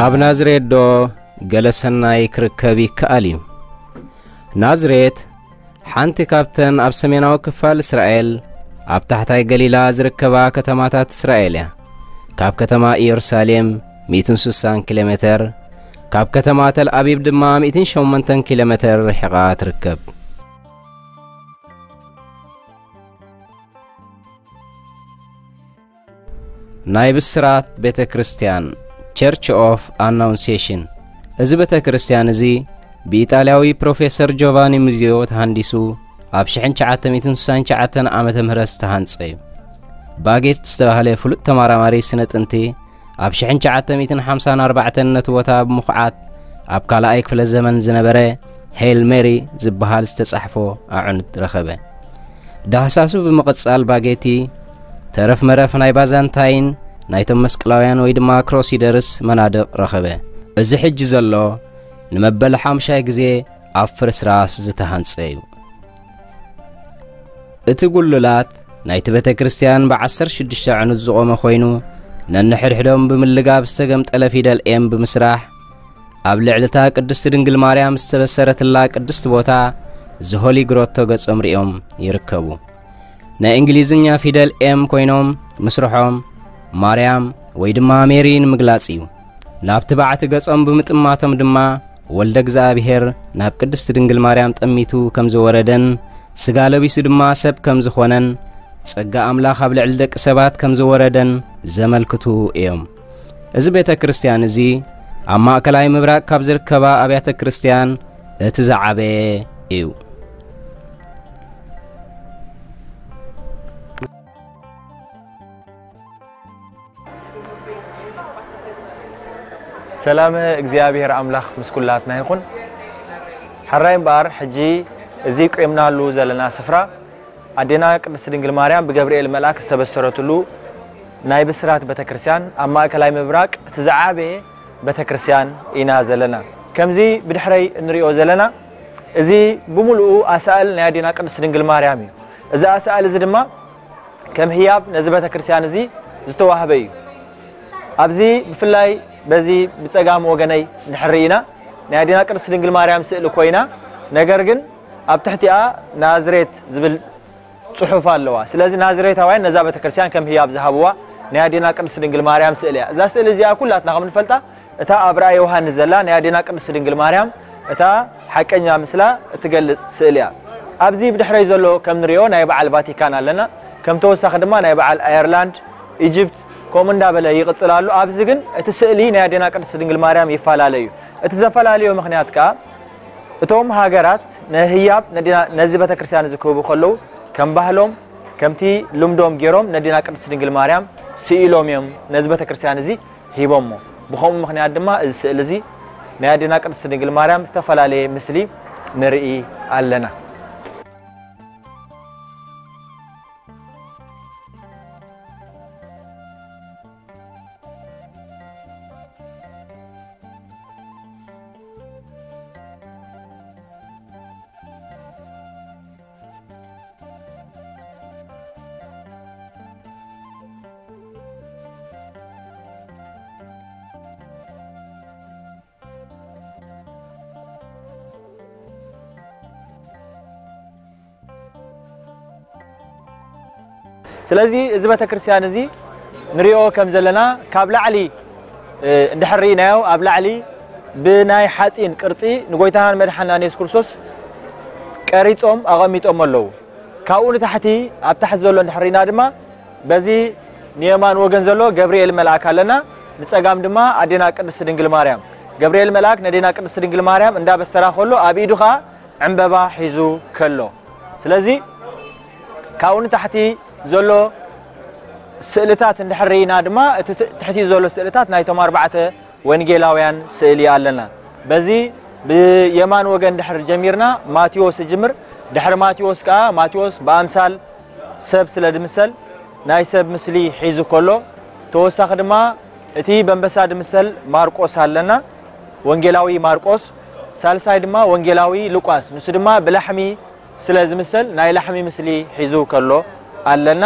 ኣብ ናዝሬት ዶ ገለ ሰናይ ክርከብ ይከኣል እዩ? ናዝሬት ሓንቲ ካብተን ኣብ ሰሜናዊ ክፋል እስራኤል ኣብ ታሕታይ ገሊላ ዝርከባ ከተማታት እስራኤል እያ። ካብ ከተማ ኢየሩሳሌም ሚእትን ስሳን ኪሎ ሜተር፣ ካብ ከተማ ተል ኣቢብ ድማ ሚእትን ሸሞንተን ኪሎ ሜተር ርሒቓ ትርከብ። ናይ ብስራት ቤተ ክርስቲያን፣ ቸርች ኦፍ ኣናውንሴሽን። እዚ ቤተ ክርስቲያን እዚ ብኢጣልያዊ ፕሮፌሰር ጆቫኒ ሙዚዮ ተሃንዲሱ ኣብ ሽሕን ትሽዓተ ሚእትን ስሳን ትሽዓተን ዓመተ ምህረት ዝተሃንጸ እዩ። ባጌት ዝተባህለ ፍሉጥ ተመራማሪ ስነ ጥንቲ ኣብ ሽሕን ትሽዓተ ሚእትን ሓምሳን ኣርባዕተን ነቲ ቦታ ብምኹዓት ኣብ ካልኣይ ክፍለ ዘመን ዝነበረ ሄል ሜሪ ዝበሃል ዝተጻሕፎ ኣዕኑድ ረኸበ። ዳህሳሱ ብምቕጻል ባጌቲ ተረፍ መረፍ ናይ ባዛንታይን ናይቶም መስቀላውያን ወይ ድማ ክሮሲደርስ መናድቕ ረኸበ። እዚ ሕጂ ዘሎ ንመበል ሓሙሻይ ግዜ ኣብ ፍርስራስ ዝተሃንጸ እዩ። እቲ ጉልላት ናይቲ ቤተ ክርስቲያን ብዓሰርተ ሽዱሽተ ዕኑድ ዝቖመ ኮይኑ፣ ነንሕድሕዶም ብምልጋብ ዝተገምጠለ ፊደል ኤም ብምስራሕ፣ ኣብ ልዕሊ እታ ቅድስቲ ድንግል ማርያም ዝተበሰረትላ ቅድስቲ ቦታ ዘሆሊ ግሮቶ ገጾም ሪኦም ይርከቡ። ናይ እንግሊዝኛ ፊደል ኤም ኮይኖም ምስርሖም ማርያም ወይ ድማ ሜሪ ንምግላጽ እዩ። ናብቲ ባዕቲ ገጾም ብምጥማቶም ድማ ወልደ እግዚኣብሔር ናብ ቅድስቲ ድንግል ማርያም ጠሚቱ ከም ዝወረደን ስጋ ለቢሱ ድማ ሰብ ከም ዝኾነን ጸጋ ኣምላኽ ኣብ ልዕሊ ደቂ ሰባት ከም ዝወረደን ዘመልክቱ እዮም። እዚ ቤተ ክርስቲያን እዚ ኣብ ማእከላይ ምብራቕ ካብ ዝርከባ ኣብያተ ክርስቲያን እቲ ዝዓበየ እዩ። ሰላም እግዚኣብሔር ኣምላኽ ምስ ኩላትና ይኹን። ሕራይ እምበኣር፣ ሕጂ እዚ ቆምናሉ ዘለና ስፍራ ኣዴና ቅድስት ድንግል ማርያም ብገብርኤል መልኣክ ዝተበሰረትሉ ናይ ብስራት ቤተክርስትያን ኣብ ማእከላይ ምብራቅ እቲ ዝዓበየ ቤተክርስትያን ኢና ዘለና። ከምዚ ብድሕረይ እንሪኦ ዘለና፣ እዚ ብምሉኡ ኣሳእል ናይ ኣዴና ቅድስት ድንግል ማርያም እዩ። እዚ ኣሳእል እዚ ድማ ከም ህያብ ነዚ ቤተክርስትያን እዚ ዝተዋህበ እዩ። ኣብዚ ብፍላይ በዚ ብጸጋም ወገነይ እንድሕር ርኢና፣ ናይ ኣዴና ቅድስት ድንግል ማርያም ስእሊ ኮይና፣ ነገር ግን ኣብ ትሕቲኣ ናዝሬት ዝብል ጽሑፍ ኣለዋ። ስለዚ ናዝሬታውያን ነዛ ቤተክርስትያን ከም ህያብ ዝሃብዋ ናይ ኣዴና ቅድስት ድንግል ማርያም ስእሊ እያ። እዛ ስእሊ እዚኣ ኩላትና ከም ንፈልጣ፣ እታ ኣብ ራእይ ዮሃንስ ዘላ ናይ ኣዴና ቅድስት ድንግል ማርያም እታ ሓቀኛ ምስላ እትገልጽ ስእሊ እያ። ኣብዚ ብድሕረይ ዘሎ ከም ንሪኦ ናይ በዓል ቫቲካን ኣለና። ከም ተወሳኺ ድማ ናይ በዓል ኣየርላንድ፣ ኢጅፕት፣ ከምኡ እንዳበለ ይቕጽል ኣሎ። ኣብዚ ግን እቲ ስእሊ ናይ ኣዴና ቅድስት ድንግል ማርያም ይፈላለ እዩ። እቲ ዘፈላለዮ ምኽንያት ከኣ፣ እቶም ሃገራት ንህያብ ነዲና-፣ ነዚ ቤተክርስትያን እዚ ክህቡ ከለዉ፣ ከም ባህሎም፣ ከምቲ ልምዶም ገይሮም ነዲና ቅድስት ድንግል ማርያም ስኢሎም እዮም ነዚ ቤተክርስትያን እዚ ሂቦሞ። ብኸምኡ ምኽንያት ድማ እዚ ስእሊ እዚ ናይ ኣዴና ቅድስት ድንግል ማርያም ዝተፈላለየ ምስሊ ንርኢ ኣለና። ስለዚ እዚ ቤተክርስትያን እዚ ንሪኦ ከም ዘለና ካብ ላዕሊ፣ እ፣ እንድሕር ርኢናዮ፣ ኣብ ላዕሊ ብናይ ሓፂን ቅርፂ ንጎይታናን መድሓናን የሱስ ክርስቶስ ቀሪጾም ኣቐሚጦም ኣለዉ። ካብኡ ንታሕቲ፣ ኣብ ታሕቲ ዘሎ እንድሕር ርኢና ድማ በዚ ንየማን ወገን ዘሎ ገብርኤል መልኣክ ኣለና፣ ንጸጋም ድማ ኣዴና ቅድስት ድንግል ማርያም። ገብርኤል መልኣክ ነዴና ቅድስት ድንግል ማርያም እንዳበሰራ ከሎ ኣብ ኢዱ ኸኣ ዕምበባ ሒዙ ከሎ። ስለዚ ካብኡ ንታሕቲ ዘሎ ስእልታት እንድሕር ርኢና ድማ እቲ ት-፣ ትሕቲ ዘሎ ስእልታት ናይቶም ኣርባዕተ ወንጌላውያን ስእሊ ኣለና። በዚ ብየማን ወገን ድሕር ጀሚርና ማቴዎስ ይጅምር። ድሕሪ ማቴዎስ ከኣ ማቴዎስ ብኣምሳል ሰብ ስለ ድምሰል ናይ ሰብ ምስሊ ሒዙ ከሎ፣ ተወሳኺ ድማ እቲ በንበሳ ድምሰል ማርቆስ ኣለና፣ ወንጌላዊ ማርቆስ። ሳልሳይ ድማ ወንጌላዊ ሉቃስ፣ ንሱ ድማ ብላሕሚ ስለ ዝምሰል ናይ ላሕሚ ምስሊ ሒዙ ከሎ ኣለና።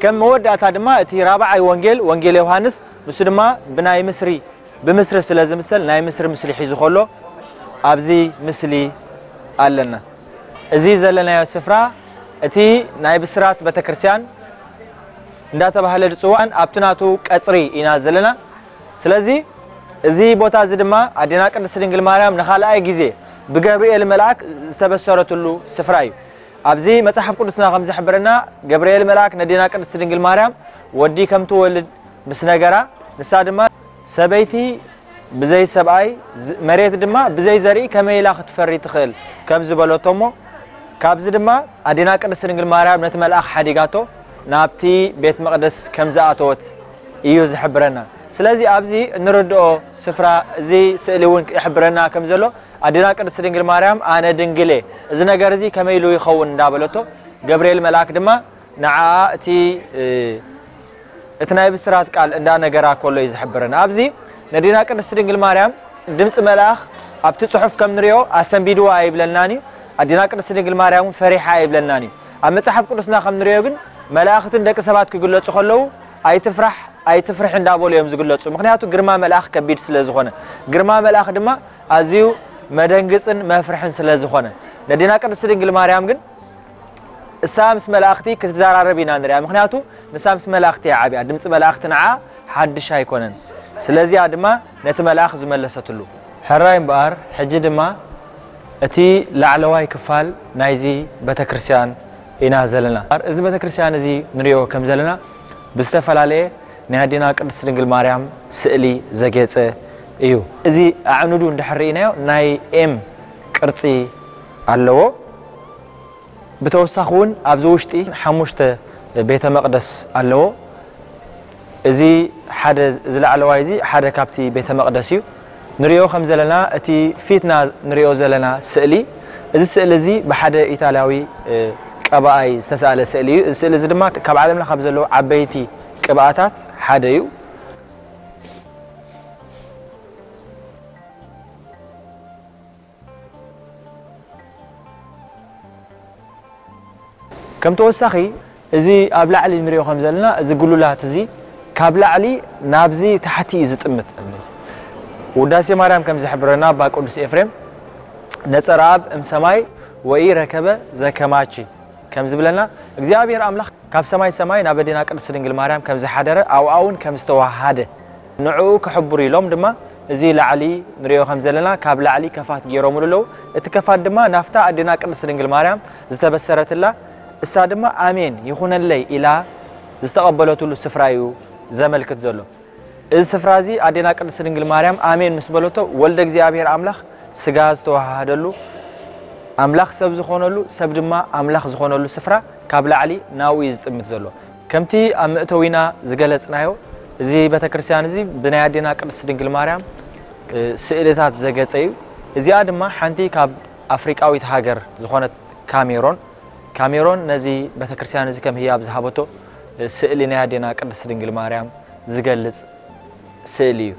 ከም መወዳእታ ድማ እቲ ራብዓይ ወንጌል፣ ወንጌል ዮሃንስ፣ ንሱ ድማ ብናይ ምስሪ ብምስሪ ስለ ዝምሰል ናይ ምስሪ ምስሊ ሒዙ ከሎ ኣብዚ ምስሊ ኣለና። እዚ ዘለናዮ ስፍራ እቲ ናይ ብስራት ቤተክርስትያን እንዳተባህለ ዝፅዋዕን ኣብቲ ናቱ ቀፅሪ ኢና ዘለና። ስለዚ እዚ ቦታ እዚ ድማ ኣዴና ቅድስት ድንግል ማርያም ንኻልኣይ ግዜ ብገብርኤል መልኣክ ዝተበሰረትሉ ስፍራ እዩ። ኣብዚ መጽሓፍ ቅዱስና ከም ዝሕብረና ገብርኤል መልኣክ ነዴና ቅድስት ድንግል ማርያም ወዲ ከም ትወልድ ምስ ነገራ፣ ንሳ ድማ ሰበይቲ ብዘይ ሰብኣይ ዝ- መሬት ድማ ብዘይ ዘርኢ ከመይ ኢላ ክትፈሪ ትኽእል ከም ዝበለቶ እሞ ካብዚ ድማ ኣዴና ቅድስት ድንግል ማርያም ነቲ መልኣኽ ሓዲጋቶ ናብቲ ቤት መቕደስ ከም ዝኣተወት እዩ ዝሕብረና። ስለዚ ኣብዚ እንርድኦ ስፍራ እዚ ስእሊ እውን ይሕብረና ከም ዘሎ ኣዴና ቅድስት ድንግል ማርያም ኣነ ድንግል እየ፣ እዚ ነገር እዚ ከመይ ኢሉ ይኸውን እንዳበለቶ ገብርኤል መልኣክ ድማ ንዓኣ እቲ እቲ ናይ ብስራት ቃል እንዳነገራ ከሎ እዩ ዝሕብረና። ኣብዚ ነዴና ቅድስት ድንግል ማርያም ድምፂ መልኣኽ ኣብቲ ፅሑፍ ከም ንሪኦ ኣሰንቢድዋ ኣይብለናን እዩ። ኣዴና ቅድስት ድንግል ማርያም እውን ፈሪሓ ኣይብለናን እዩ። ኣብ መፅሓፍ ቅዱስና ከም ንሪኦ ግን መላእኽትን ደቂ ሰባት ክግለፁ ከለዉ ኣይትፍራሕ ኣይትፍርሒ እንዳበሉ እዮም ዝግለፁ። ምክንያቱ ግርማ መልኣኽ ከቢድ ስለ ዝኾነ፣ ግርማ መልኣኽ ድማ ኣዝዩ መደንግፅን መፍርሕን ስለ ዝኾነ፣ ነዴና ቅድስት ድንግል ማርያም ግን እሳ ምስ መላእኽቲ ክትዘራረብ ኢና ንሪኣ። ምክንያቱ ንሳ ምስ መላእኽቲ እያ ዓብያ። ድምፂ መላእኽቲ ንዓ ሓድሽ ኣይኮነን። ስለዚኣ ድማ ነቲ መልኣኽ ዝመለሰትሉ። ሕራይ እምበኣር ሕጂ ድማ እቲ ላዕለዋይ ክፋል ናይዚ ቤተክርስትያን ኢና ዘለና። እዚ ቤተክርስትያን እዚ ንሪኦ ከም ዘለና ብዝተፈላለየ ናይ ኣዴና ቅድስት ድንግል ማርያም ስእሊ ዘጌፀ እዩ። እዚ ኣዕኑዱ እንድሕር ርኢናዮ ናይ ኤም ቅርፂ ኣለዎ። ብተወሳኺ እውን ኣብዚ ውሽጢ ሓሙሽተ ቤተ መቕደስ ኣለዎ። እዚ ሓደ እዚ ላዕለዋይ እዚ ሓደ ካብቲ ቤተ መቕደስ እዩ። ንሪኦ ከም ዘለና እቲ ፊትና ንሪኦ ዘለና ስእሊ እዚ ስእሊ እዚ ብሓደ ኢጣልያዊ ቀባኣይ ዝተሳእለ ስእሊ እዩ። እዚ ስእሊ እዚ ድማ ካብ ዓለምና ካብ ዘለዉ ዓበይቲ ቅብኣታት ሓደ እዩ። ከም ተወሳኺ እዚ ኣብ ላዕሊ ንሪኦ ከም ዘለና እዚ ጉሉላት እዚ ካብ ላዕሊ ናብዚ ታሕቲ እዩ ዝጥምት። ውዳሴ ማርያም ከም ዝሕብረና ኣባ ቅዱስ ኤፍሬም ነጸረ ኣብ እም ሰማይ ወኢ ረከበ ዘከማቺ ከም ዝብለና እግዚኣብሔር ኣምላኽ ካብ ሰማይ ሰማይ ናብ ኣዴና ቅድስት ድንግል ማርያም ከም ዝሓደረ ኣብኣ እውን ከም ዝተዋሃደ ንዕኡ ክሕብሩ ኢሎም ድማ እዚ ላዕሊ ንሪኦ ከም ዘለና ካብ ላዕሊ ከፋት ገይሮምሉ ኣለዉ። እቲ ከፋት ድማ ናብታ ኣዴና ቅድስት ድንግል ማርያም ዝተበሰረትላ እሳ ድማ ኣሜን ይኹነለይ ኢላ ዝተቐበለትሉ ስፍራ እዩ ዘመልክት ዘሎ። እዚ ስፍራ እዚ ኣዴና ቅድስት ድንግል ማርያም ኣሜን ምስ በለቶ ወልደ እግዚኣብሔር ኣምላኽ ስጋ ዝተዋሃሃደሉ ኣምላኽ ሰብ ዝኾነሉ ሰብ ድማ ኣምላኽ ዝኾነሉ ስፍራ ካብ ላዕሊ ናብኡ እዩ ዝጥምት ዘሎ። ከምቲ ኣብ መእተዊና ዝገለጽናዮ እዚ ቤተክርስትያን እዚ ብናይ ኣዴና ቅድስት ድንግል ማርያም ስእልታት ዘገጸ እዩ። እዚኣ ድማ ሓንቲ ካብ ኣፍሪቃዊት ሃገር ዝኾነት ካሜሮን ካሜሮን ነዚ ቤተክርስትያን እዚ ከም ህያብ ዝሃበቶ ስእሊ ናይ ኣዴና ቅድስት ድንግል ማርያም ዝገልጽ ስእሊ እዩ።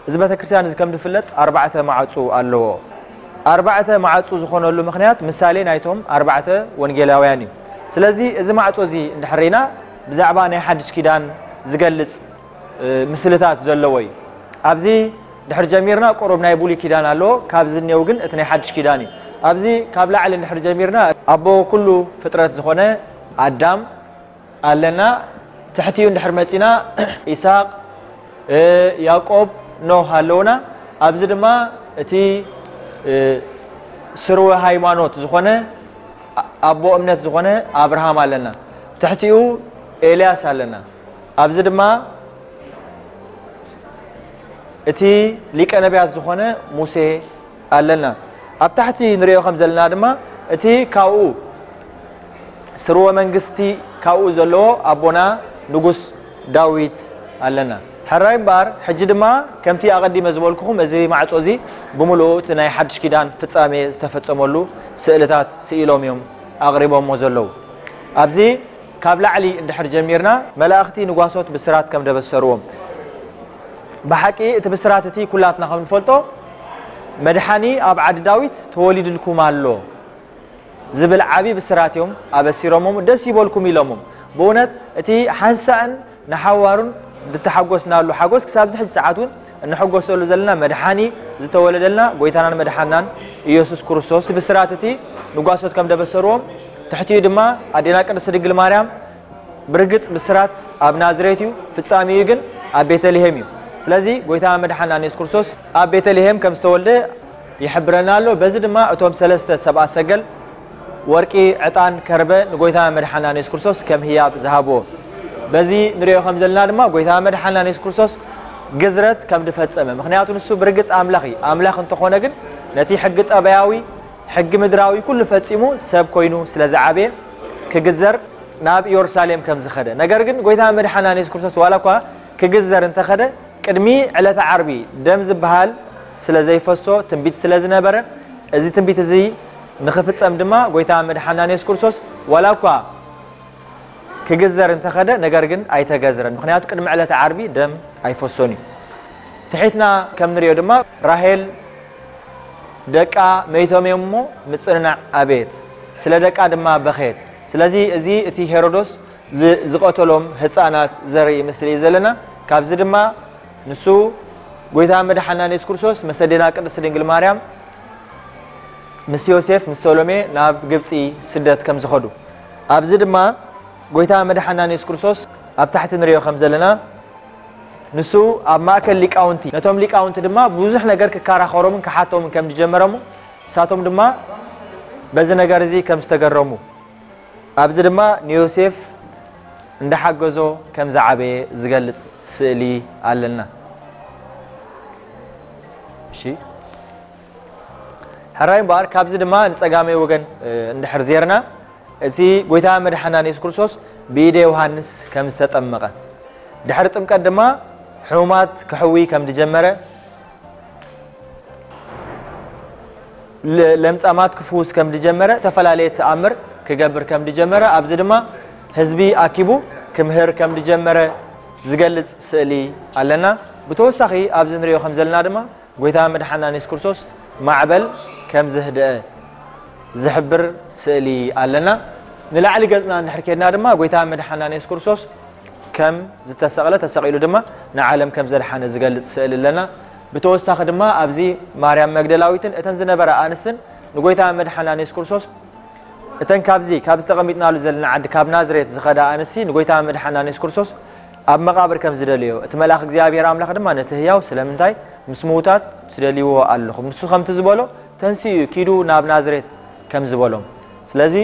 እዚ ቤተክርስትያን እዚ ከም ዝፍለጥ ኣርባዕተ ማዕፁ ኣለዎ። ኣርባዕተ ማዕፁ ዝኾነሉ ምኽንያት ምሳሌ ናይቶም ኣርባዕተ ወንጌላውያን እዩ። ስለዚ እዚ ማዕፆ እዚ እንድሕር ርኢና ብዛዕባ ናይ ሓድሽ ኪዳን ዝገልፅ ምስልታት ዘለዎ እዩ። ኣብዚ ድሕር ጀሚርና ቁሩብ ናይ ብሉይ ኪዳን ኣለዎ፣ ካብዚ እኒአው ግን እቲ ናይ ሓድሽ ኪዳን እዩ። ኣብዚ ካብ ላዕሊ እንድሕር ጀሚርና ኣቦ ኩሉ ፍጥረት ዝኾነ ኣዳም ኣለና። ትሕቲኡ እንድሕር መፂና ኢሳቅ፣ ያቆብ፣ ኖህ ኣለውና። ኣብዚ ድማ እቲ ስርወ ሃይማኖት ዝኾነ ኣቦ እምነት ዝኾነ ኣብርሃም ኣለና። ትሕቲኡ ኤልያስ ኣለና። ኣብዚ ድማ እቲ ሊቀ ነቢያት ዝኾነ ሙሴ ኣለና። ኣብ ታሕቲ ንሪኦ ከም ዘለና ድማ እቲ ካብኡ ስርወ መንግስቲ ካብኡ ዘለዎ ኣቦና ንጉስ ዳዊት ኣለና። ሕራይ እምበኣር ሕጂ ድማ ከምቲ ኣቐዲመ ዝበልኩኹም እዚ ማዕጾ እዚ ብምሉኡ እቲ ናይ ሓድሽ ኪዳን ፍጻሜ ዝተፈጸመሉ ስእልታት ስኢሎም እዮም ኣቕሪቦሞ ዘለዉ። ኣብዚ ካብ ላዕሊ እንድሕር ጀሚርና መላእኽቲ ንጓሶት ብስራት ከም ደበሰርዎም ብሓቂ እቲ ብስራት እቲ ኩላትና ከም ንፈልጦ መድሓኒ ኣብ ዓዲ ዳዊት ተወሊድልኩም ኣሎ ዝብል ዓቢ ብስራት እዮም ኣበሲሮሞም። ደስ ይበልኩም ኢሎሞም። ብእውነት እቲ ሓንሳእን ንሓዋሩን ዝተሓጎስናሉ ሓጎስ ክሳብ ዝሕጂ ሰዓት እውን እንሕጎሰሉ ዘለና መድሓኒ ዝተወለደልና ጎይታናን መድሓናን ኢየሱስ ክርስቶስ ብስራት እቲ ንጓሶት ከም ደበሰርዎም ትሕቲኡ ድማ ኣዴና ቅድስት ድንግል ማርያም ብርግጽ ብስራት ኣብ ናዝሬት እዩ፣ ፍጻሜኡ ግን ኣብ ቤተልሔም እዩ። ስለዚ ጎይታ መድሓና ኢየሱስ ክርስቶስ ኣብ ቤተልሔም ከም ዝተወልደ ይሕብረና ኣሎ። በዚ ድማ እቶም ሰለስተ ሰብኣ ሰገል ወርቂ፣ ዕጣን፣ ከርበ ንጎይታ መድሓና ኢየሱስ ክርስቶስ ከም ህያብ ዝሃብዎ በዚ ንሪኦ ከም ዘለና ድማ ጎይታ መድሓና ኢየሱስ ክርስቶስ ግዝረት ከም ዝፈጸመ፣ ምኽንያቱ ንሱ ብርግጽ ኣምላኽ እዩ። ኣምላኽ እንተኾነ ግን ነቲ ሕጊ ጠባያዊ፣ ሕጊ ምድራዊ ኩሉ ፈጺሙ ሰብ ኮይኑ ስለ ዝዓበየ ክግዘር ናብ ኢየሩሳሌም ከም ዝኸደ። ነገር ግን ጎይታ መድሓና ኢየሱስ ክርስቶስ ዋላ እኳ ክግዘር እንተኸደ ቅድሚ ዕለተ ዓርቢ ደም ዝበሃል ስለ ዘይፈሶ ትንቢት ስለ ዝነበረ እዚ ትንቢት እዚ ንኽፍጸም ድማ ጎይታ መድሓና ኢየሱስ ክርስቶስ ዋላ እኳ ክግዘር እንተኸደ ነገር ግን ኣይተገዝረን። ምኽንያቱ ቅድሚ ዕለተ ዓርቢ ደም ኣይፈሶን እዩ። ትሒትና ከም ንሪኦ ድማ ራሄል ደቃ መይቶም እዮም እሞ ምጽንናዕ ኣበየት፣ ስለ ደቃ ድማ በኸየት። ስለዚ እዚ እቲ ሄሮዶስ ዝ- ዝቐተሎም ህፃናት ዘርኢ ምስሊ እዩ ዘለና። ካብዚ ድማ ንሱ ጎይታ መድሓና ኢየሱስ ክርስቶስ ምስ ኣዴና ቅድስት ድንግል ማርያም ምስ ዮሴፍ ምስ ሰሎሜ ናብ ግብፂ ስደት ከም ዝኸዱ ኣብዚ ድማ ጎይታ መድሓና ኢየሱስ ክርስቶስ ኣብ ታሕቲ ንሪኦ ከም ዘለና ንሱ ኣብ ማእከል ሊቃውንቲ ነቶም ሊቃውንቲ ድማ ብዙሕ ነገር ክከራኸሮምን ክሓቶምን ከም ዝጀመረሙ ንሳቶም ድማ በዚ ነገር እዚ ከም ዝተገረሙ ኣብዚ ድማ ንዮሴፍ እንዳሓገዞ ከም ዝዓበየ ዝገልጽ ስእሊ ኣለና። እሺ ሕራይ እምበኣር ካብዚ ድማ ንጸጋመይ ወገን እንድሕር ዜርና እቲ ጎይታ መድሓና ኢየሱስ ክርስቶስ ብኢደ ዮሃንስ ከም ዝተጠመቐ ድሕሪ ጥምቀት ድማ ሕሙማት ክሕዊ ከም ዝጀመረ ለምጻማት ክፍውስ ከም ዝጀመረ ዝተፈላለየ ተኣምር ክገብር ከም ዝጀመረ ኣብዚ ድማ ህዝቢ ኣኪቡ ክምህር ከም ዝጀመረ ዝገልጽ ስእሊ ኣለና። ብተወሳኺ ኣብዚ ንሪኦ ከም ዘለና ድማ ጎይታ መድሓና ኢየሱስ ክርስቶስ ማዕበል ከም ዝህደአ ዝሕብር ስእሊ ኣለና። ንላዕሊ ገጽና እንድሕር ኬድና ድማ ጎይታ መድሓና ኢየሱስ ክርስቶስ ከም ዝተሰቕለ ተሰቒሉ ድማ ንዓለም ከም ዘድሓነ ዝገልጽ ስእሊ ኣለና። ብተወሳኺ ድማ ኣብዚ ማርያም መግደላዊትን እተን ዝነበራ ኣንስትን ንጎይታ መድሓና ኢየሱስ ክርስቶስ እተን ካብዚ ካብ ዝተቐሚጥናሉ ዘለና ዓዲ ካብ ናዝሬት ዝኸዳ ኣንስቲ ንጎይታ መድሓና ኢየሱስ ክርስቶስ ኣብ መቓብር ከም ዝደልዮ እቲ መልኣኽ እግዚኣብሔር ኣምላኽ ድማ ነቲ ህያው ስለምንታይ ምስ ምውታት ትደልይዎ ኣለኹም ንሱ ከምቲ ዝበሎ ተንስኡ ኪዱ ናብ ናዝሬት ከም ዝበሎም ስለዚ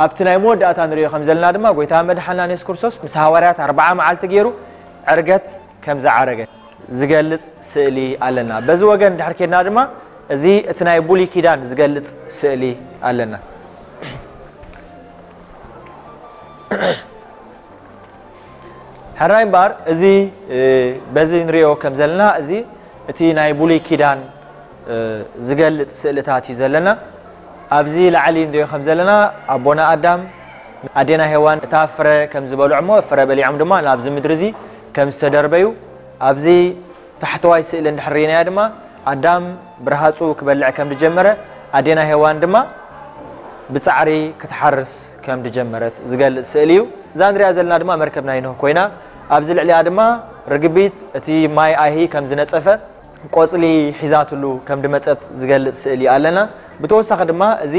ኣብቲ ናይ መወዳእታ ንሪኦ ከም ዘለና ድማ ጎይታ መድሓና ኢየሱስ ክርስቶስ ምስ ሃዋርያት ኣርብዓ መዓልቲ ገይሩ ዕርገት ከም ዝዓረገ ዝገልጽ ስእሊ ኣለና። በዚ ወገን ድሕር ኬድና ድማ እዚ እቲ ናይ ብሉይ ኪዳን ዝገልጽ ስእሊ ኣለና። ሕራይ እምበኣር እዚ በዚ ንሪኦ ከም ዘለና እዚ እቲ ናይ ብሉይ ኪዳን ዝገልጽ ስእልታት እዩ ዘለና። ኣብዚ ላዕሊ ንሪኦ ከም ዘለና ኣቦና ኣዳም ኣዴና ሄዋን እታ ፍረ ከም ዝበልዑ እሞ ፍረ በሊዖም ድማ ናብዚ ምድሪ እዚ ከም ዝተደርበዩ ኣብዚ ታሕተዋይ ስእሊ እንድሕር ርኢናዮ ድማ ኣዳም ብርሃፁ ክበልዕ ከም ዝጀመረ ኣዴና ሄዋን ድማ ብፃዕሪ ክትሓርስ ከም ዝጀመረት ዝገልፅ ስእሊ እዩ። እዛ ንሪኣ ዘለና ድማ መርከብ ናይ ኖህ ኮይና ኣብዚ ልዕሊኣ ድማ ርግቢት እቲ ማይ ኣይሂ ከም ዝነፀፈ ቆፅሊ ሒዛትሉ ከም ዝመፀት ዝገልፅ ስእሊ ኣለና። ብተወሳኺ ድማ እዚ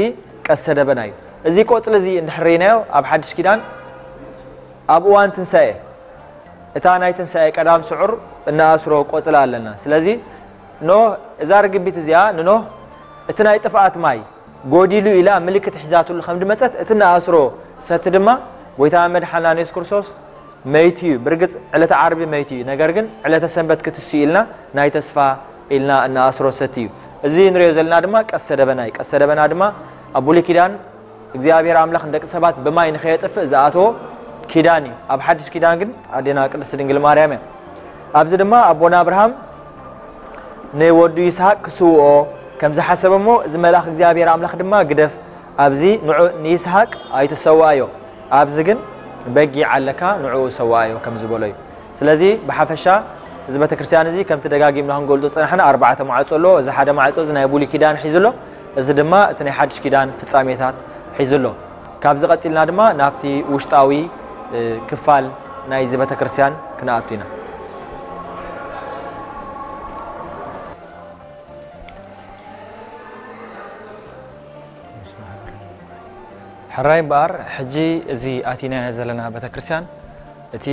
ቀስተ ደበና እዩ። እዚ ቆፅሊ እዚ እንድሕር ርኢናዮ ኣብ ሓድሽ ኪዳን ኣብ እዋን ትንሳኤ እታ ናይ ትንሳኤ ቀዳም ስዑር እንኣስሮ ቆፅሊ ኣለና። ስለዚ ኖህ እዛ ርግቢት እዚኣ ንኖህ እቲ ናይ ጥፍኣት ማይ ጎዲሉ ኢላ ምልክት ሒዛትሉ ከም ድመጸት፣ እቲ ንኣስሮ ሰቲ ድማ ጎይታ መድሓና የሱስ ክርስቶስ መይቱ እዩ። ብርግጽ ዕለተ ዓርቢ መይቱ እዩ፣ ነገር ግን ዕለተ ሰንበት ክትስኡ ኢልና ናይ ተስፋ ኢልና እንኣስሮ ሰቲ እዩ። እዚ ንሪኦ ዘለና ድማ ቀስተ ደበና እዩ። ቀስተ ደበና ድማ ኣብ ብሉይ ኪዳን እግዚኣብሔር ኣምላኽ ንደቂ ሰባት ብማይ ንኸየጥፍእ ዝኣተዎ ኪዳን እዩ። ኣብ ሓድሽ ኪዳን ግን ኣዴና ቅድስት ድንግል ማርያም እያ። ኣብዚ ድማ ኣቦና ኣብርሃም ንወዱ ይስሐቅ ክስውኦ ከም ዝሓሰበ እሞ፣ እዚ መልኣኽ እግዚኣብሔር ኣምላኽ ድማ፣ "ግደፍ፣ ኣብዚ ንዑ ንይስሐቅ ኣይትሰውኣዮ፣ ኣብዚ ግን በጊዕ ኣለካ፣ ንዕኡ ሰውኣዮ" ከም ዝበሎ እዩ። ስለዚ ብሓፈሻ እዚ ቤተክርስትያን እዚ ከምቲ ደጋጊምና ክንገልጾ ዝጸናሕና ኣርባዕተ ማዕጾ ኣለዎ። እዚ ሓደ ማዕጾ እዚ ናይ ብሉይ ኪዳን ሒዙ ኣሎ፣ እዚ ድማ እቲ ናይ ሓድሽ ኪዳን ፍጻሜታት ሒዙ ኣሎ። ካብዚ ቀጺልና ድማ ናብቲ ውሽጣዊ፣ እ፣ ክፋል ናይዚ ቤተክርስትያን ክንኣቱ ኢና። ሕራይ እምበኣር፣ ሕጂ እዚ ኣቲናዮ ዘለና ቤተክርስትያን፣ እቲ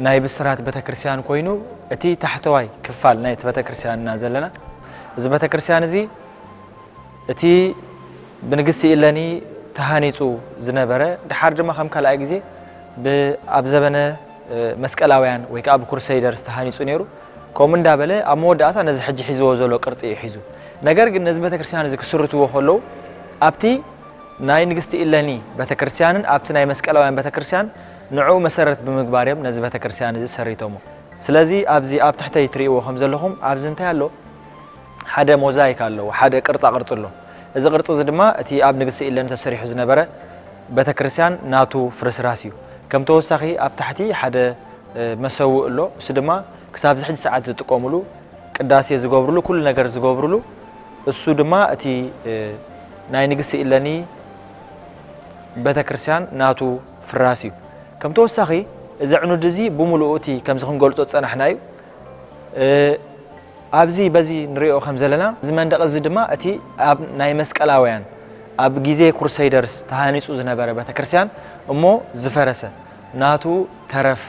ናይ ብስራት ቤተክርስትያን ኮይኑ፣ እቲ ታሕተዋይ ክፋል ናይቲ ቤተክርስትያን ኢና ዘለና። እዚ ቤተክርስትያን እዚ፣ እቲ ብንግስቲ ኢለኒ ተሃኒጹ ዝነበረ፣ ድሓር ድማ ከም ካልኣይ ግዜ ብ-፣ ኣብ ዘበነ፣ እ፣ መስቀላውያን ወይ ከኣ ብክሩሰይደርስ ተሃኒጹ ነይሩ። ከምኡ እንዳበለ ኣብ መወዳእታ ነዚ ሕጂ ሒዝዎ ዘሎ ቅርጺ እዩ ሒዙ። ነገር ግን ነዚ ቤተክርስትያን እዚ ክስርትዎ ከለዉ፣ ኣብቲ ናይ ንግስቲ ኢለኒ ቤተክርስትያንን ኣብቲ ናይ መስቀላውያን ቤተክርስትያን ንዕኡ መሰረት ብምግባር እዮም ነዚ ቤተክርስትያን እዚ ሰሪቶሞ። ስለዚ ኣብዚ ኣብ ትሕተይ ትርእይዎ ከም ዘለኹም ኣብዚ እንታይ ኣሎ? ሓደ ሞዛይክ ኣለዎ፣ ሓደ ቅርጻ ቅርጺ ኣሎ። እዚ ቅርጺ እዚ ድማ እቲ ኣብ ንግስቲ ኢለኒ ተሰሪሑ ዝነበረ ቤተክርስትያን ናቱ ፍርስራስ እዩ። ከም ተወሳኺ ኣብ ታሕቲ ሓደ፣ እ፣ መሰውእ ኣሎ። እሱ ድማ ክሳብ እዚ ሕጂ ሰዓት ዝጥቀሙሉ፣ ቅዳሴ ዝገብሩሉ፣ ኩሉ ነገር ዝገብሩሉ፣ እሱ ድማ እቲ፣ እ፣ ናይ ንግስቲ ኢለኒ ቤተክርስትያን ናቱ ፍራስ እዩ። ከም ተወሳኺ፣ እዚ ዕኑድ እዚ ብምሉኡ እቲ ከምዚ ክንገልጾ ዝጸናሕና እዩ። እ፣ ኣብዚ በዚ ንሪኦ ከም ዘለና፣ እዚ መንደቕ እዚ ድማ እቲ ኣብ ናይ መስቀላውያን፣ ኣብ ግዜ ክሩሰይደርስ ተሃኒጹ ዝነበረ ቤተክርስትያን እሞ ዝፈረሰ ናቱ ተረፍ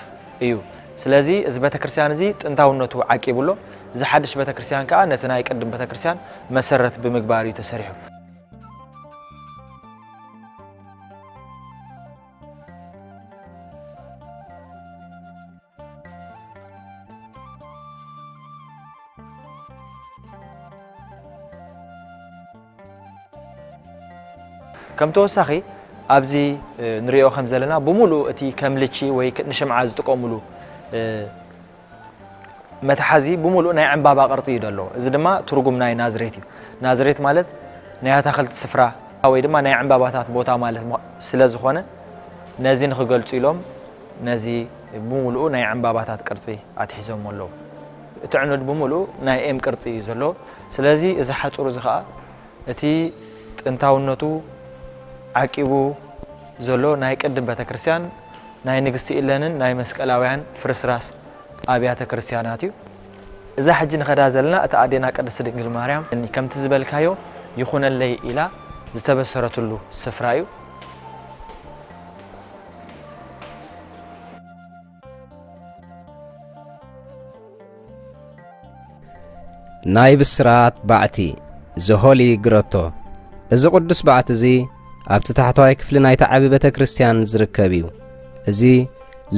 እዩ። ስለዚ እዚ ቤተክርስትያን እዚ ጥንታውነቱ ዓቂቡ ኣሎ። እዚ ሓድሽ ቤተክርስትያን ከኣ ነቲ ናይ ቅድም ቤተክርስትያን መሰረት ብምግባር እዩ ተሰሪሑ። ከም ተወሳኺ ኣብዚ፣ እ፣ ንሪኦ ከም ዘለና ብምሉኡ እቲ ከም ልቺ ወይ ክ-፣ ንሽምዓ ዝጥቀሙሉ፣ እ፣ መትሓዚ ብምሉኡ ናይ ዕምባባ ቅርጺ እዩ ዘሎ። እዚ ድማ ትርጉም ናይ ናዝሬት እዩ። ናዝሬት ማለት ናይ ኣታኽልቲ ስፍራ ወይ ድማ ናይ ዕምባባታት ቦታ ማለት ምዃ-፣ ስለ ዝኾነ ነዚ ንኽገልጹ ኢሎም ነዚ ብምሉኡ ናይ ዕምባባታት ቅርጺ ኣትሒዞም ኣለዉ። እቲ ዕኑድ ብምሉኡ ናይ ኤም ቅርጺ እዩ ዘለዎ። ስለዚ እዚ ሓጹር እዚ ኸኣ እቲ ጥንታውነቱ ዓቂቡ ዘሎ ናይ ቅድም ቤተክርስትያን ናይ ንግስቲ ኢለንን ናይ መስቀላውያን ፍርስራስ ኣብያተ ክርስትያናት እዩ። እዛ ሕጂ ንኸዳ ዘለና እታ ኣዴና ቅድስት ድንግል ማርያም ከምቲ ዝበልካዮ ይኹነለይ ኢላ ዝተበሰረትሉ ስፍራ እዩ። ናይ ብስራት ባዕቲ፣ ዘሆሊ ግረቶ። እዚ ቅዱስ ባዕቲ እዚ ኣብቲ ታሕተዋይ ክፍሊ ናይታ ዓቢ ቤተ ክርስቲያን ዝርከብ እዩ። እዚ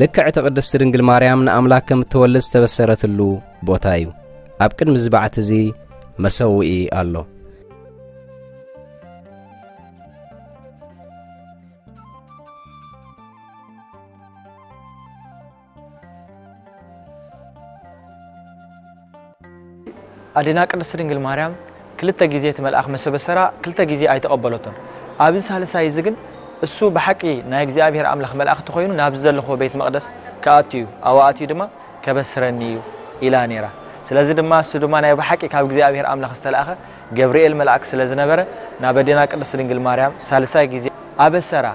ልክዕ እቲ ቅድስቲ ድንግል ማርያም ንኣምላክ ከም እትወልድ ዝተበሰረትሉ ቦታ እዩ። ኣብ ቅድሚ እዚ ባዕቲ እዚ መሰውኢ ኣሎ። ኣዴና ቅድስት ድንግል ማርያም ክልተ ግዜ እቲ መልኣኽ መሰበሰራ ክልተ ግዜ ኣይተቐበለቶን። ኣብዚ ሳልሳይ እዚ ግን እሱ ብሓቂ ናይ እግዚኣብሔር ኣምላኽ መልኣኽ እንተኾይኑ ናብዚ ዘለኽዎ ቤት መቕደስ ክኣቱ እዩ። ኣብኡ ኣትዩ ድማ ከበስረኒ እዩ ኢላ ነይራ። ስለዚ ድማ እሱ ድማ ናይ ብሓቂ ካብ እግዚኣብሔር ኣምላኽ ዝተላእኸ ገብርኤል መልኣክ ስለ ዝነበረ ናብ ኣዴና ቅድስት ድንግል ማርያም ሳልሳይ ግዜ ኣበሰራ።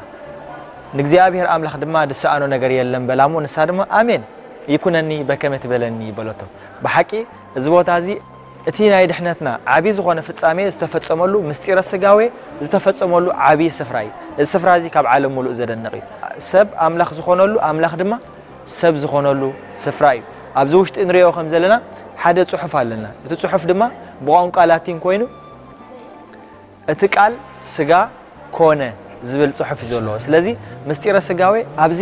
ንእግዚኣብሔር ኣምላኽ ድማ ዝሰኣኖ ነገር የለን በላ እሞ ንሳ ድማ ኣሜን ይኩነኒ በከመ ትበለኒ በለቶ። ብሓቂ እዚ ቦታ እዚ እቲ ናይ ድሕነትና ዓቢ ዝኾነ ፍጻሜ ዝተፈጸመሉ ምስጢረ ስጋዌ ዝተፈጸመሉ ዓቢ ስፍራ እዩ። እዚ ስፍራ እዚ ካብ ዓለም ሙሉእ ዘደንቕ እዩ። ሰብ ኣምላኽ ዝኾነሉ ኣምላኽ ድማ ሰብ ዝኾነሉ ስፍራ እዩ። ኣብዚ ውሽጢ ንሪኦ ከም ዘለና ሓደ ጽሑፍ ኣለና። እቲ ጽሑፍ ድማ ብቋንቋ ላቲን ኮይኑ እቲ ቃል ስጋ ኮነ ዝብል ጽሑፍ እዩ ዘለዎ። ስለዚ ምስጢረ ስጋዌ ኣብዚ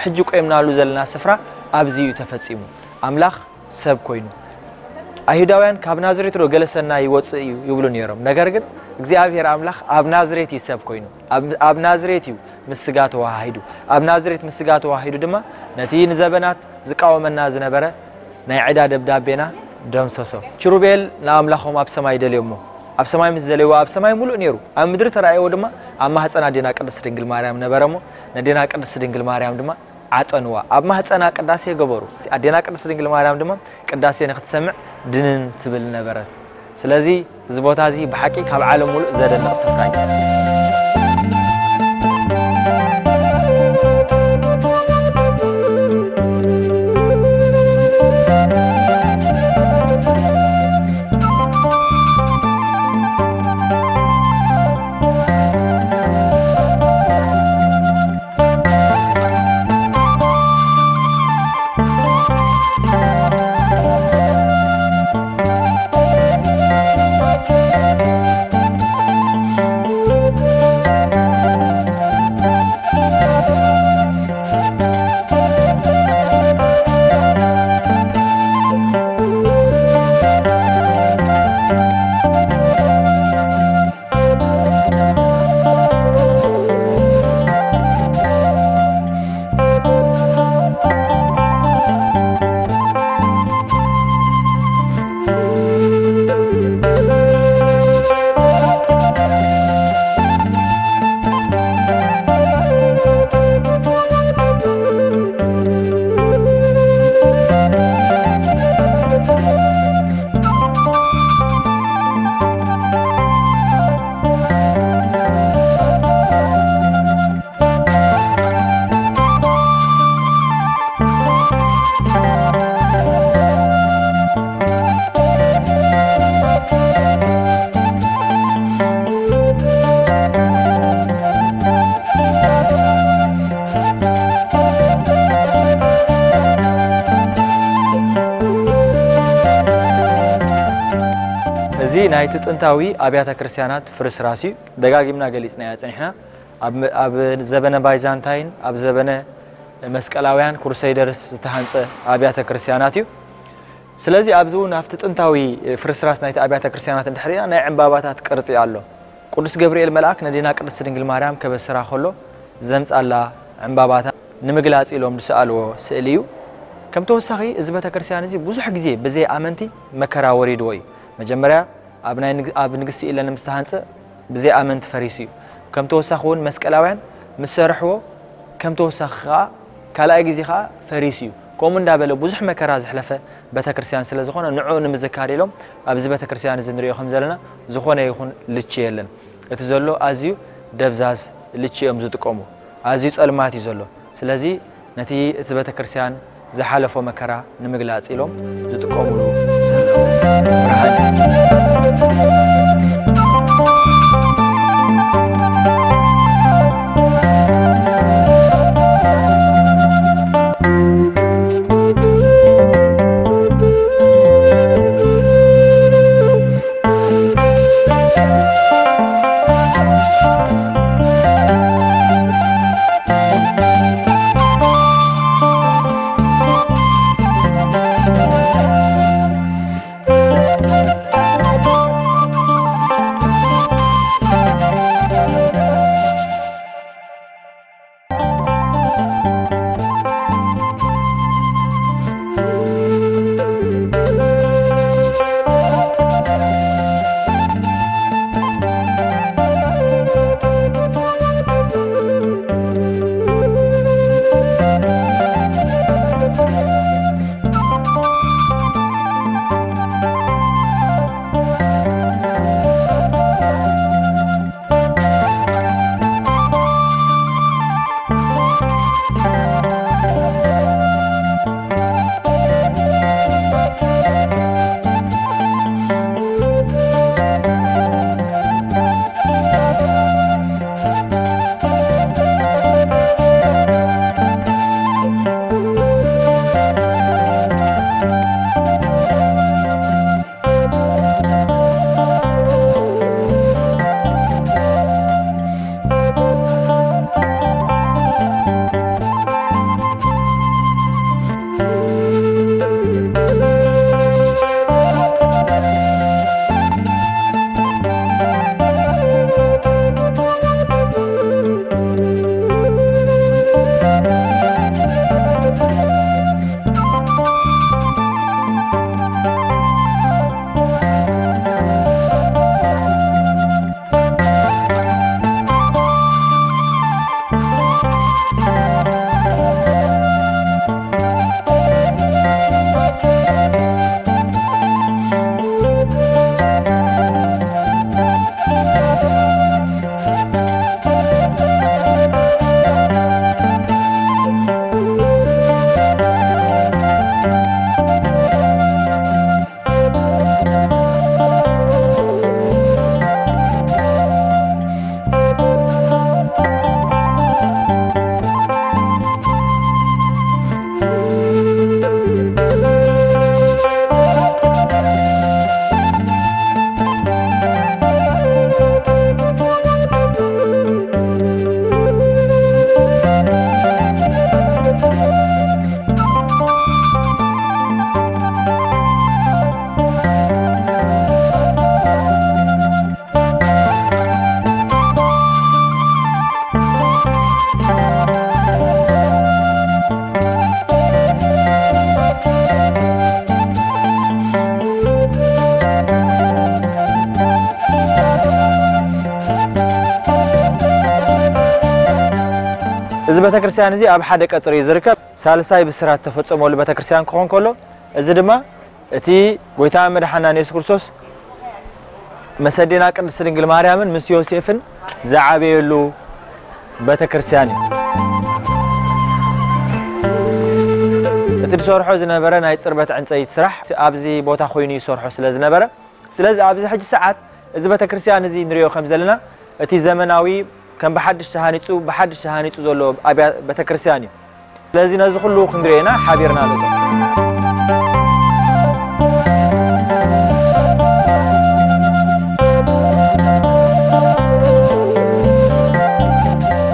ሕጂ ቆይምናሉ ዘለና ስፍራ ኣብዚ እዩ ተፈጺሙ። ኣምላኽ ሰብ ኮይኑ። ኣይሁዳውያን ካብ ናዝሬት ዶ ገለ ሰናይ ይወጽእ እዩ ይብሉ ነይሮም። ነገር ግን እግዚኣብሔር ኣምላኽ ኣብ ናዝሬት እዩ ሰብ ኮይኑ። ኣብ፣ ኣብ ናዝሬት እዩ ምስ ስጋ ተዋሃሂዱ። ኣብ ናዝሬት ምስ ስጋ ተዋሂዱ ድማ ነቲ ንዘበናት ዝቃወመና ዝነበረ ናይ ዕዳ ደብዳቤና ደምሰሶ። ኪሩቤል ንኣምላኾም ኣብ ሰማይ ደልዮሞ። ኣብ ሰማይ ምስ ደለይዎ ኣብ ሰማይ ሙሉእ ነይሩ። ኣብ ምድሪ ተራእይዎ ድማ ኣብ ማህፀን ኣዴና ቅድስት ድንግል ማርያም ነበረ እሞ ነዴና ቅድስት ድንግል ማርያም ድማ ዓጸንዋ። ኣብ ማህፀና ቅዳሴ ገበሩ። ኣዴና ቅድስት ድንግል ማርያም ድማ ቅዳሴ ንክትሰምዕ ድንን ትብል ነበረት። ስለዚ እዚ ቦታ እዚ ብሓቂ ካብ ዓለም ሙሉእ ዘደንቕ ስፍራ እዩ። እዚ ናይቲ ጥንታዊ ኣብያተ ክርስቲያናት ፍርስራስ እዩ። ደጋጊምና ገሊጽናዮ ጸኒሕና። ኣብ፣ ኣብ ዘበነ ባይዛንታይን ኣብ ዘበነ መስቀላውያን ክሩሰይደርስ ዝተሃንጸ ኣብያተ ክርስቲያናት እዩ። ስለዚ ኣብዚ እውን ኣብቲ ጥንታዊ ፍርስራስ ናይቲ ኣብያተ ክርስቲያናት እንድሕር ርኢና ናይ ዕምባባታት ቅርጺ ኣሎ። ቅዱስ ገብርኤል መልኣክ ነዴና ቅድስት ድንግል ማርያም ከበስራ ከሎ ዘምጻላ ዕምባባታት ንምግላጽ ኢሎም ዝሰኣልዎ ስእሊ እዩ። ከም ተወሳኺ እዚ ቤተ ክርስቲያን እዚ ብዙሕ ግዜ ብዘይ ኣመንቲ መከራ ወሪድዎ እዩ። መጀመርያ ኣብ ናይ ንግ-፣ ኣብ ንግስቲ ኢለን ምስ ተሃንጸ ብዘይ ኣመንቲ ፈሪሱ እዩ። ከም ተወሳኺ እውን መስቀላውያን ምስ ሰርሕዎ ከም ተወሳኺ ከኣ ካልኣይ ግዜ ከኣ ፈሪሱ እዩ። ከምኡ እንዳበለ ብዙሕ መከራ ዘሕለፈ ቤተክርስትያን ስለ ዝኾነ ንዕኡ ንምዝካር ኢሎም ኣብዚ ቤተክርስትያን እዚ ንሪኦ ከም ዘለና ዝኾነ ይኹን ልቺ የለን። እቲ ዘሎ ኣዝዩ ደብዛዝ ልቺ እዮም ዝጥቀሙ። ኣዝዩ ጸልማት እዩ ዘሎ። ስለዚ ነቲ እቲ ቤተክርስትያን ዝሓለፎ መከራ ንምግላጽ ኢሎም ዝጥቀሙሉ ዘለዉ ብርሃን እዩ። እዚ ቤተክርስትያን እዚ ኣብ ሓደ ቀጽሪ እዩ ዝርከብ። ሳልሳይ ብስራት ተፈጸመሉ ቤተክርስትያን ክኾን ከሎ፣ እዚ ድማ እቲ ጎይታ መድሓና የሱስ ክርስቶስ ምስ ኣዴና ቅድስት ድንግል ማርያምን ምስ ዮሴፍን ዝዓበየሉ ቤተክርስትያን እዩ። እቲ ዝሰርሖ ዝነበረ ናይ ጽርበት ዕንጸይቲ ስራሕ ኣብዚ ቦታ ኮይኑ ይሰርሖ ስለ ዝነበረ፣ ስለዚ ኣብዚ ሕጂ ሰዓት እዚ ቤተክርስትያን እዚ ንሪኦ ከም ዘለና፣ እቲ ዘመናዊ ከም ብሓድሽ ተሃኒጹ፣ ብሓድሽ ተሃኒጹ ዘሎ ኣብያ-፣ ቤተክርስትያን እዩ። ስለዚ ነዚ ኩሉ ክንሪኦ ኢና ሓቢርና ንእቶ።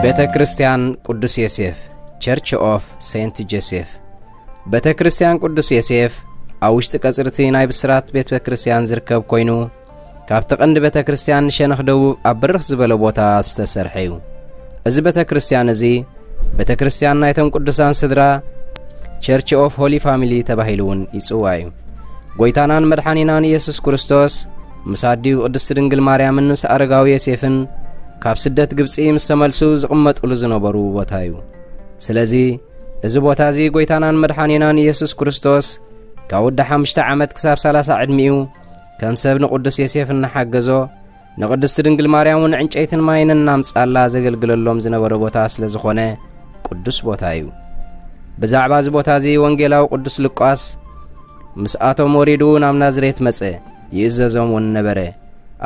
ቤተ ክርስቲያን ቅዱስ ዮሴፍ፣ Church of Saint Joseph። ቤተ ክርስቲያን ቅዱስ ዮሴፍ ኣብ ውሽጢ ቀጽርቲ ናይ ብስራት ቤተ ክርስቲያን ዝርከብ ኮይኑ፣ ካብቲ ቀንዲ ቤተ ክርስቲያን ንሸነኽ ደቡብ ኣብ ብርኽ ዝበለ ቦታ ዝተሰርሐ እዩ። እዚ ቤተ ክርስቲያን እዚ ቤተ ክርስቲያን ናይቶም ቅዱሳን ስድራ፣ Church of Holy Family ተባሂሉ እውን ይጽዋዕ እዩ። ጎይታናን መድሓኒናን ኢየሱስ ክርስቶስ ምስ ኣዲኡ ቅድስቲ ድንግል ማርያምን ምስ ኣረጋዊ ዮሴፍን ካብ ስደት ግብጺ ምስ ተመልሱ ዝቕመጡሉ ዝነበሩ ቦታ እዩ። ስለዚ እዚ ቦታ እዚ ጎይታናን መድሓኒናን ኢየሱስ ክርስቶስ ካብ ወዲ ሓሙሽተ ዓመት ክሳብ ሰላሳ ዕድሚኡ ከም ሰብ ንቅዱስ ዮሴፍ እናሓገዞ፣ ንቅድስቲ ድንግል ማርያም እውን ዕንጨይትን ማይን እናምጻላ ዘገልግለሎም ዝነበረ ቦታ ስለ ዝኾነ ቅዱስ ቦታ እዩ። ብዛዕባ እዚ ቦታ እዚ ወንጌላዊ ቅዱስ ሉቃስ፣ "ምስኣቶም ወሪዱ ናብ ናዝሬት መጸ፣ ይእዘዞም እውን ነበረ።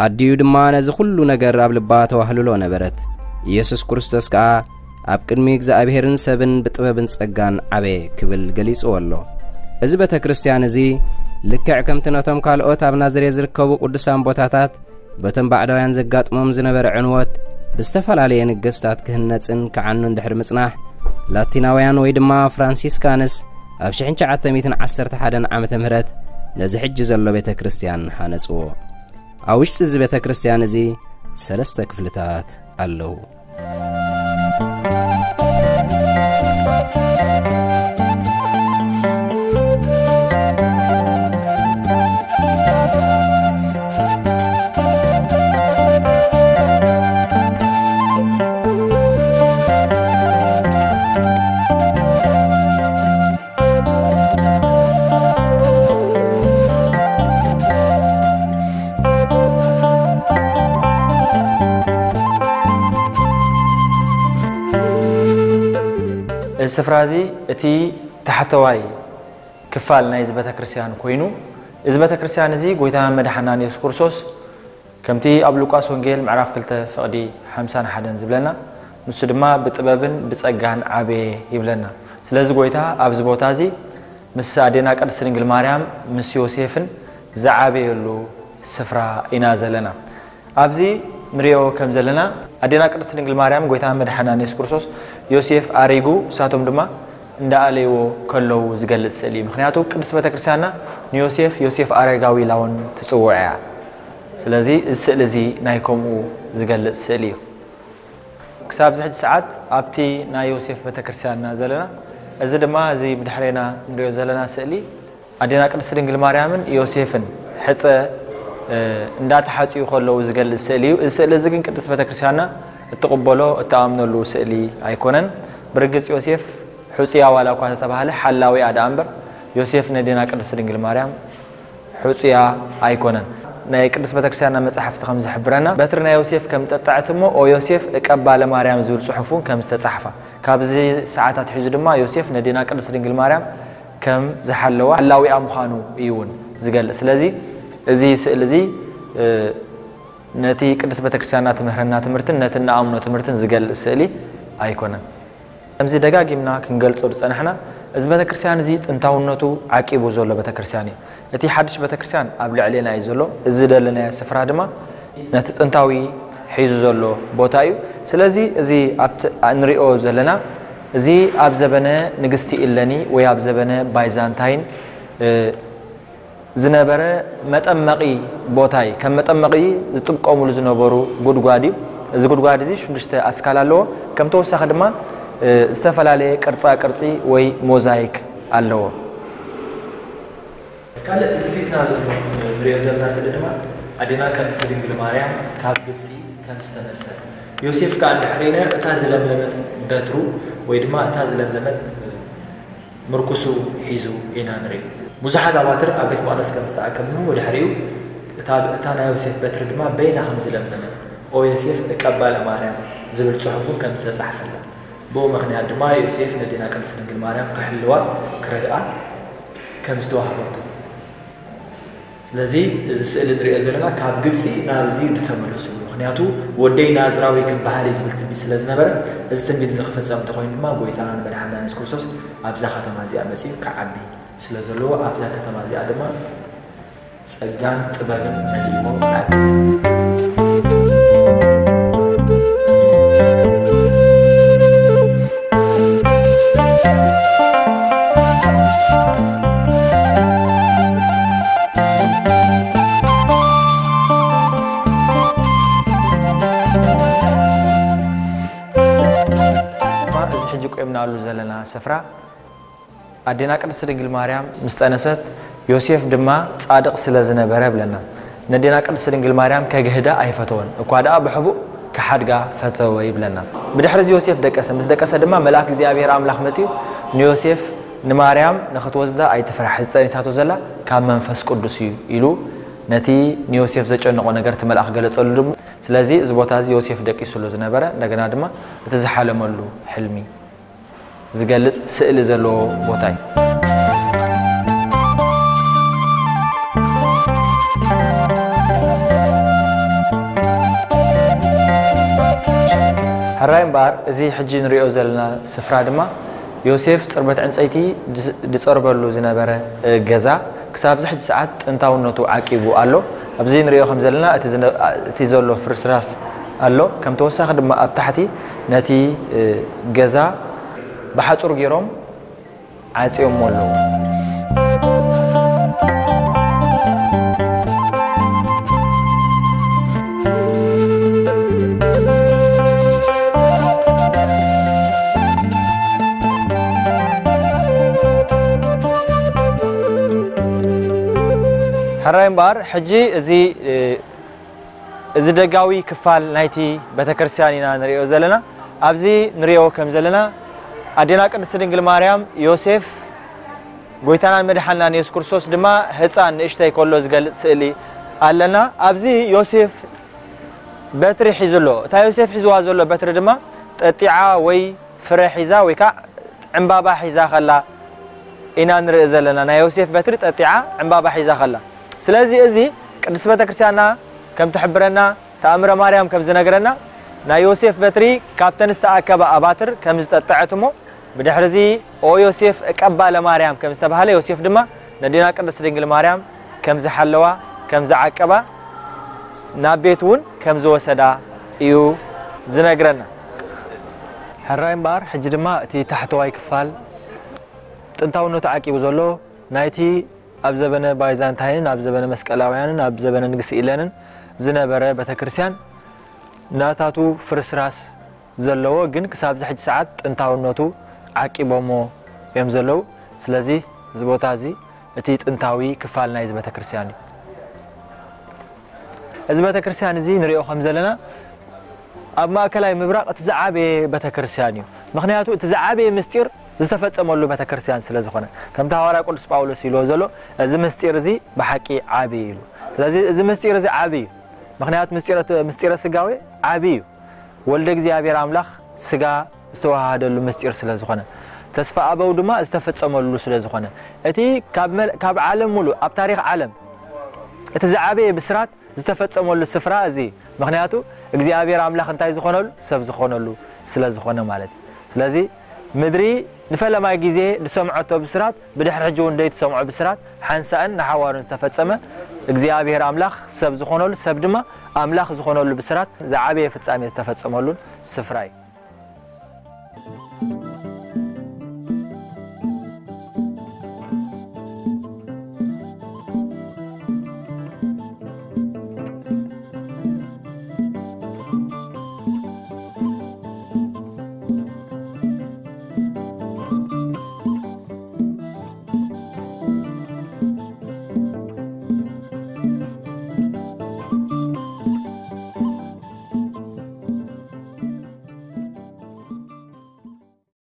ኣዲኡ ድማ ነዚ ኩሉ ነገር ኣብ ልባ ተዋህልሎ ነበረት። ኢየሱስ ክርስቶስ ከኣ ኣብ ቅድሚ እግዚኣብሔርን ሰብን ብጥበብን ጸጋን ዓበየ" ክብል ገሊጽዎ ኣሎ። እዚ ቤተ ክርስቲያን እዚ ልክዕ ከምቲ ነቶም ካልኦት ኣብ ናዝሬት ዝርከቡ ቅዱሳን ቦታታት በቶም ባዕዳውያን ዘጋጥሞም ዝነበረ ዕንወት ብዝተፈላለየ ነገስታት ክህነጽን ክዓኑን ድሕሪ ምጽናሕ፣ ላቲናውያን ወይ ድማ ፍራንሲስካንስ ኣብ ሽሕን ትሽዓተ ሚእትን ዓሰርተ ሓደን ዓመተ ምህረት ነዚ ሕጂ ዘሎ ቤተ ክርስቲያን ሃነጽዎ። ኣብ ውሽጢ እዚ ቤተ ክርስቲያን እዚ ሰለስተ ክፍልታት ኣለዉ። እዚ ስፍራ እዚ እቲ ታሕተዋይ ክፋል ናይዚ ቤተክርስትያን ኮይኑ፣ እዚ ቤተክርስትያን እዚ ጎይታ መድሓናን የሱስ ክርስቶስ ከምቲ ኣብ ሉቃስ ወንጌል ምዕራፍ ክልተ ፍቕዲ ሓምሳን ሓደን ዝብለና፣ ንሱ ድማ ብጥበብን ብጸጋን ዓበየ ይብለና። ስለዚ ጎይታ ኣብዚ ቦታ እዚ ምስ ኣዴና ቅድስት ድንግል ማርያም ምስ ዮሴፍን ዝዓበየሉ ስፍራ ኢና ዘለና። ኣብዚ ንሪኦ ከም ዘለና ኣዴና ቅድስት ድንግል ማርያም ጎይታ መድሓና የሱስ ክርስቶስ ዮሴፍ ኣሪጉ፣ እሳቶም ድማ እንዳኣለይዎ ከለዉ ዝገልጽ ስእሊ እዩ። ምኽንያቱ ቅድስት ቤተክርስትያንና ንዮሴፍ፣ ዮሴፍ ኣረጋዊ ኢላ እውን ትጽውዖ እያ። ስለዚ እዚ ስእሊ እዚ ናይ ከምኡ ዝገልጽ ስእሊ እዩ። ክሳብ እዚ ሕጂ ሰዓት ኣብቲ ናይ ዮሴፍ ቤተክርስትያንና ዘለና፣ እዚ ድማ እዚ ብድሕሬና ንሪኦ ዘለና ስእሊ ኣዴና ቅድስት ድንግል ማርያምን ዮሴፍን ሕጸ፣ እ፣ እንዳተሓጽዩ ከለዉ ዝገልጽ ስእሊ እዩ። እዚ ስእሊ እዚ ግን ቅድስት ቤተክርስትያንና እትቕበሎ፣ እትኣምነሉ ስእሊ ኣይኮነን። ብርግጽ ዮሴፍ ሕጹያ ዋላ እኳ ተተባህለ ሓላዊኣ ደኣ እምበር፣ ዮሴፍ ነዴና ቅድስት ድንግል ማርያም ሕጹያ ኣይኮነን። ናይ ቅድስት ቤተክርስትያንና መጻሕፍቲ ከም ዝሕብረና፣ በትሪ ናይ ዮሴፍ ከም ጠጣዕት እሞ፣ "ኦ ዮሴፍ እቀባ ለማርያም" ዝብል ጽሑፍ እውን ከም ዝተጻሕፋ፣ ካብዚ ሰዓታት ሒዙ ድማ ዮሴፍ ነዴና ቅድስት ድንግል ማርያም ከም ዝሓለዋ ሓላዊኣ ምዃኑ እዩ እውን ዝገልጽ። ስለዚ እዚ ስእሊ እዚ፣ እ፣ ነቲ ቅድስት ቤተክርስትያንና ትምህረና ትምህርትን ነቲ እንኣምኖ ትምህርትን ዝገልጽ ስእሊ ኣይኮነን። ከምዚ ደጋጊምና ክንገልጾ ዝጸናሕና፣ እዚ ቤተክርስትያን እዚ ጥንታውነቱ ዓቂቡ ዘሎ ቤተክርስትያን እዩ። እቲ ሓድሽ ቤተክርስትያን ኣብ ልዕሌና እዩ ዘሎ። እዚ ዘለናዮ ስፍራ ድማ ነቲ ጥንታዊ ሒዙ ዘሎ ቦታ እዩ። ስለዚ እዚ ኣብቲ እንሪኦ ዘለና፣ እዚ ኣብ ዘበነ ንግስቲ ኢለኒ ወይ ኣብ ዘበነ ባይዛንታይን፣ እ፣ ዝነበረ መጠመቒ ቦታ እዩ። ከም መጠመቒ ዝጥቀሙሉ ዝነበሩ ጉድጓድ እዩ። እዚ ጉድጓድ እዚ ሽዱሽተ ኣስካል ኣለዎ። ከም ተወሳኺ ድማ፣ እ፣ ዝተፈላለየ ቅርጻ ቅርጺ ወይ ሞዛይክ ኣለዎ። ካልእ እዚ ፊትና ዘሎ ንሪኦ ዘለና ስእሊ ድማ ኣዴና ቅድስት ድንግል ማርያም ካብ ግብጺ ከም ዝተመልሰት፣ ዮሴፍ ከኣ እንድሕር ኢለ እታ ዝለምለመት በትሩ ወይ ድማ እታ ዝለምለመት ምርኩሱ ሒዙ ኢና ንርኢ። ብዙሓት ኣባትር ኣብ ቤት መቕደስ ከም ዝተኣከብኑ ብድሕሪኡ እታ እታ ናይ ዮሴፍ በትሪ ድማ በይና ከም ዝለምለመት ኦ ዮሴፍ እቀባ ለማርያም ዝብል ጽሑፍ እውን ከም ዝተጻሕፈላ ብኡ ምኽንያት ድማ ዮሴፍ ነዴና ቅድስት ድንግል ማርያም ክሕልዋ ክረድኣ ከም ዝተዋህበቶ ስለዚ እዚ ስእሊ ንሪኦ ዘለና ካብ ግብፂ ናብዚ ዝተመለሱ ምክንያቱ ወደይ ናዝራዊ ክበሃል እዩ ዝብል ትንቢት ስለ ዝነበረ እዚ ትንቢት እዚ ክፍፀም እንተኮይኑ ድማ ጎይታና ንመድሓና የሱስ ክርስቶስ ኣብዛ ከተማ እዚኣ መፂኡ ክዓቢ ስለ ዘለዎ ኣብዛ ከተማ እዚኣ ድማ ጸጋን ጥበብን መሊእዎ ዓቢ። እዚ ሕጂ ቆምናሉ ዘለና ስፍራ ኣዴና ቅድስት ድንግል ማርያም ምስ ጠነሰት ዮሴፍ ድማ ጻድቕ ስለ ዝነበረ ብለና። ነዴና ቅድስት ድንግል ማርያም ከግህዳ ኣይፈተወን፣ እኳ ደኣ ብሕቡእ ክሓድጋ ፈተወ ይብለና። ብድሕሪ እዚ ዮሴፍ ደቀሰ። ምስ ደቀሰ ድማ መልኣክ እግዚኣብሔር ኣምላኽ መጺኡ ንዮሴፍ ንማርያም ንኽትወስዳ ኣይትፍራሕ፣ እዚ ጠኒሳቶ ዘላ ካብ መንፈስ ቅዱስ እዩ ኢሉ ነቲ ንዮሴፍ ዘጨነቖ ነገር እቲ መልኣኽ ገለጸሉ። ድም ስለዚ እዚ ቦታ እዚ ዮሴፍ ደቂሱሉ ዝነበረ እንደገና ድማ እቲ ዝሓለመሉ ሕልሚ ዝገልጽ ስእሊ ዘለዎ ቦታ እዩ። ሕራይ እምበኣር እዚ ሕጂ ንሪኦ ዘለና ስፍራ ድማ ዮሴፍ ጽርበት ዕንጸይቲ ዝጸርበሉ ዝነበረ ገዛ ክሳብ ዝሕጂ ሰዓት ጥንታውነቱ ዓቂቡ ኣሎ። ኣብዚ ንሪኦ ከም ዘለና እቲ ዘሎ ፍርስራስ ኣሎ። ከም ተወሳኺ ድማ ኣብ ታሕቲ ነቲ ገዛ ብሓጹር ገይሮም ዓጽዮሞ ኣለዉ። ሕራይ እምበኣር ሕጂ እዚ እዚ ደጋዊ ክፋል ናይቲ ቤተክርስትያን ኢና ንሪኦ ዘለና። ኣብዚ ንሪኦ ከም ዘለና ኣዴና ቅድስት ድንግል ማርያም፣ ዮሴፍ፣ ጎይታናን መድሓናን የሱስ ክርስቶስ ድማ ህፃን ንእሽተይ ከሎ ዝገልፅ ስእሊ ኣለና። ኣብዚ ዮሴፍ በትሪ ሒዙ ኣሎ። እታ ዮሴፍ ሒዝዋ ዘሎ በትሪ ድማ ጠጢዓ ወይ ፍረ ሒዛ ወይ ከዓ ዕምባባ ሒዛ ከላ ኢና ንርኢ ዘለና። ናይ ዮሴፍ በትሪ ጠጢዓ ዕምባባ ሒዛ ከላ። ስለዚ እዚ ቅድስት ቤተክርስትያንና ከም ትሕብረና፣ ተኣምረ ማርያም ከም ዝነግረና፣ ናይ ዮሴፍ በትሪ ካብተን ዝተኣከባ ኣባትር ከም ዝጠጠዐት እሞ፣ ብድሕሪ እዚ ኦ ዮሴፍ እቀባ ለማርያም ከም ዝተባህለ፣ ዮሴፍ ድማ ነዴና ቅድስት ድንግል ማርያም ከም ዝሓለዋ፣ ከም ዝዓቀባ፣ ናብ ቤት እውን ከም ዝወሰዳ እዩ ዝነግረና። ሕራይ እምበኣር፣ ሕጂ ድማ እቲ ታሕተዋይ ክፋል ጥንታውነቱ ዓቂቡ ዘሎ ናይቲ ኣብ ዘበነ ባይዛንታይንን ኣብ ዘበነ መስቀላውያንን ኣብ ዘበነ ንግስ ኢለንን ዝነበረ ቤተክርስትያን ናታቱ ፍርስራስ ዘለዎ ግን ክሳብ ዝሕጂ ሰዓት ጥንታውነቱ ዓቂቦሞ እዮም ዘለዉ። ስለዚ እዚ ቦታ እዚ እቲ ጥንታዊ ክፋል ናይዚ ቤተክርስትያን እዩ። እዚ ቤተክርስትያን እዚ ንሪኦ ከም ዘለና ኣብ ማእከላይ ምብራቕ እቲ ዝዓበየ ቤተክርስትያን እዩ። ምኽንያቱ እቲ ዝዓበየ ምስጢር ዝተፈጸመሉ ቤተክርስትያን ስለ ዝኾነ፣ ከምቲ ሃዋርያ ቅዱስ ጳውሎስ ኢልዎ ዘሎ፣ እዚ ምስጢር እዚ ብሓቂ ዓቢ እዩ ኢሉ። ስለዚ እዚ ምስጢር እዚ ዓቢ እዩ። ምኽንያቱ ምስጢረ፣ ምስጢረ ስጋዌ ዓቢ እዩ። ወልደ እግዚኣብሔር ኣምላኽ ስጋ ዝተዋሃደሉ ምስጢር ስለ ዝኾነ፣ ተስፋ ኣበው ድማ ዝተፈጸመሉ ስለ ዝኾነ፣ እቲ ካብ መ-፣ ካብ ዓለም ሙሉእ፣ ኣብ ታሪኽ ዓለም እቲ ዝዓበየ ብስራት ዝተፈጸመሉ ስፍራ እዚ እዩ። ምኽንያቱ እግዚኣብሔር ኣምላኽ እንታይ ዝኾነሉ? ሰብ ዝኾነሉ ስለ ዝኾነ ማለት እዩ። ስለዚ ምድሪ ንፈለማይ ግዜ ዝሰምዐቶ ብስራት፣ ብድሕሪ ሕጂ እውን ዘይትሰምዖ ብስራት ሓንሳእን ንሓዋሩን ዝተፈጸመ እግዚኣብሔር ኣምላኽ ሰብ ዝኾነሉ፣ ሰብ ድማ ኣምላኽ ዝኾነሉ ብስራት ዝዓበየ ፍጻሜ ዝተፈጸመሉን ስፍራ እዩ።